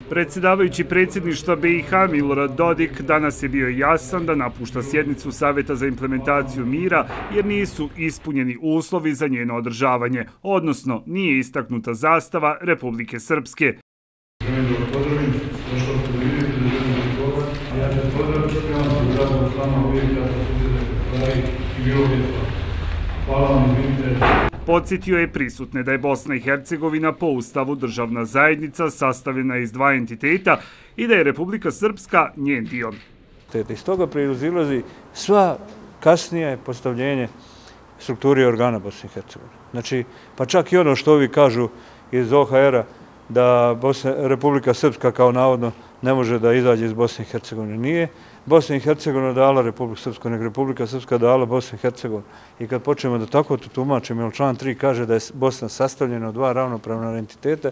Predsjedavajući predsjedništva BiH Milorad Dodik danas je bio jasan da napušta sjednicu Savjeta za implementaciju mira jer nisu ispunjeni uslovi za njeno održavanje, odnosno nije istaknuta zastava Republike Srpske. Podsjetio je prisutne da je Bosna i Hercegovina po Ustavu državna zajednica sastavljena iz dva entiteta i da je Republika Srpska njen dio. Iz toga proizilazi sva kasnije postavljenje strukture i organa Bosne i Hercegovine. Znači, pa čak i ono što ovi kažu iz OHR-a da Republika Srpska kao navodno ne može da izađe iz Bosne i Hercegovine. Nije Bosna i Hercegovina dala Republiku Srpsku, nego Republika Srpska dala Bosnu i Hercegovinu. I kad počnemo da tako to tumačimo, jer član 3 kaže da je Bosna sastavljena od dva ravnopravna entiteta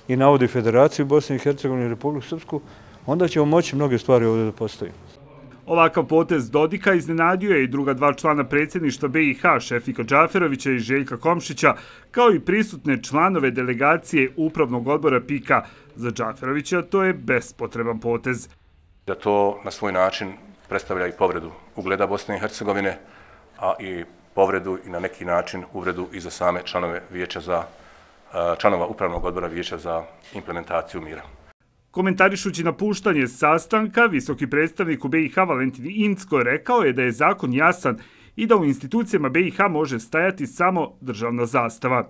i navodi Federaciju Bosne i Hercegovine i Republiku Srpsku, onda ćemo moći mnoge stvari ovdje da postavimo. Ovakav potez Dodika iznenadio je i druga dva člana predsjedništva BiH, Šefika Džaferovića i Željka Komšića, kao i prisutne članove delegacije Upravnog odbora PIK-a. Za Džaferovića to je bespotreban potez. Da to na svoj način predstavlja i povredu ugleda Bosne i Hercegovine, a i povredu i na neki način uvredu i za same članova Upravnog odbora Vijeća za implementaciju mira. Komentarišući napuštanje sastanka, visoki predstavnik u BiH Valentin Incko rekao je da je zakon jasan i da u institucijama BiH može stajati samo državna zastava.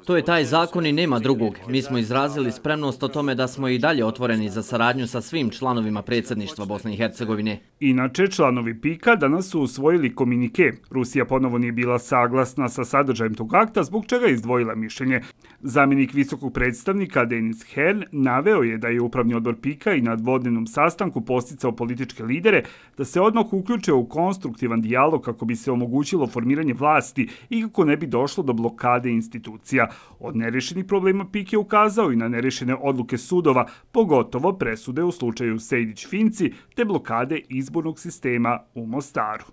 To je taj zakon i nema drugog. Mi smo izrazili spremnost o tome da smo i dalje otvoreni za saradnju sa svim članovima predsjedništva Bosne i Hercegovine. Inače, članovi PIK-a danas su usvojili komunike. Rusija ponovo nije bila saglasna sa sadržajem tog akta, zbog čega je izdvojila mišljenje. Zamjenik visokog predstavnika Denis Hern naveo je da je Upravni odbor PIK-a i na dvodnevnom sastanku posticao političke lidere da se odmah uključe u konstruktivan dijalog kako bi se omogućilo formiranje vlasti i kako ne bi došlo do blokade institucija. Od nerešenih problema PIK je ukazao i na nerešene odluke sudova, pogotovo presude u slučaju Sejdić-Finci te blokade izbornog sistema u Mostaru.